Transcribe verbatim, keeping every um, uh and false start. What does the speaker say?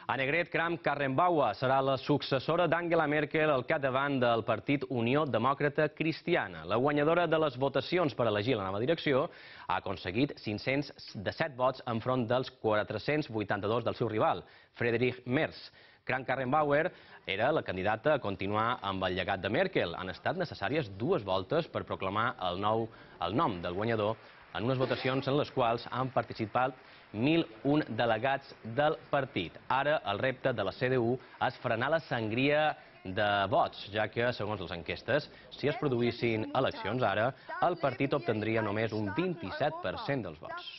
Annegret Kramp-Karrenbauer serà la successora d'Angela Merkel al capdavant del partit Unió Demòcrata Cristiana. La guanyadora de les votacions per elegir la nova direcció ha aconseguit cinc-cents disset vots enfront dels quatre-cents vuitanta-dos del seu rival, Friedrich Merz. Kramp-Karrenbauer era la candidata a continuar amb el llegat de Merkel. Han estat necessàries dues voltes per proclamar el, nou, el nom del guanyador en unes votacions en les quals han participat mil un delegats del partit. Ara el repte de la C D U és frenar la sangria de vots, ja que, segons les enquestes, si es produïssin eleccions ara, el partit obtendria només un vint-i-set per cent dels vots.